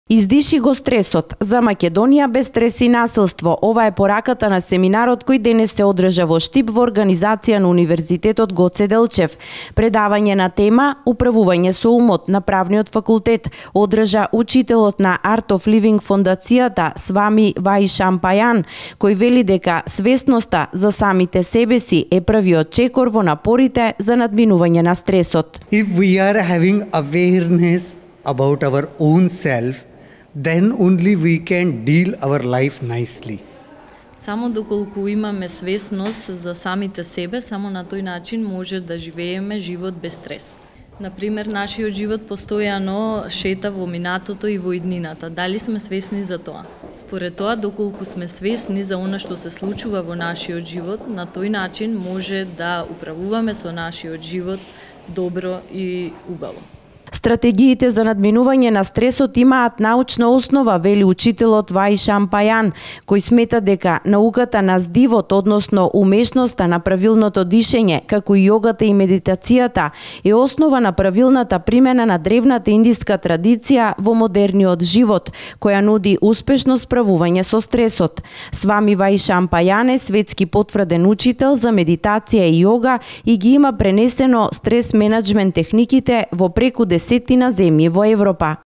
Издиши го стресот. За Македонија без стрес и насилство. Ова е пораката на семинарот кој денес се одржа во Штип во организација на Универзитетот Гоце Делчев. Предавање на тема Управување со умот на Правниот факултет одржа учителот на Art of Living фондацијата Свами Ваишам Пајан, кој вели дека свесноста за самите себе си е првиот чекор во напорите за надминување на стресот. If we are having awareness about our own self, then only we can deal our life nicely. Само доколку имаме свесност за самите себе, само на тој начин може да живееме живот без стрес. Например, нашиот живот постојано шета во минатото и во иднината. Дали сме свесни за тоа? Според тоа, доколку сме свесни за она што се случува во нашиот живот, на тој начин може да управуваме со нашиот живот добро и убаво. Стратегиите за надминување на стресот имаат научна основа, вели учителот Ваишам Пајан, кој смета дека науката на здивот, односно умешноста на правилното дишење, како и јогата и медитацијата, е основа на правилната примена на древната индиска традиција во модерниот живот, која нуди успешно справување со стресот. Свами Ваишам Пајан е светски потврден учител за медитација и јога и ги има пренесено стрес менеджмент техниките во преку 10 земји во Европа.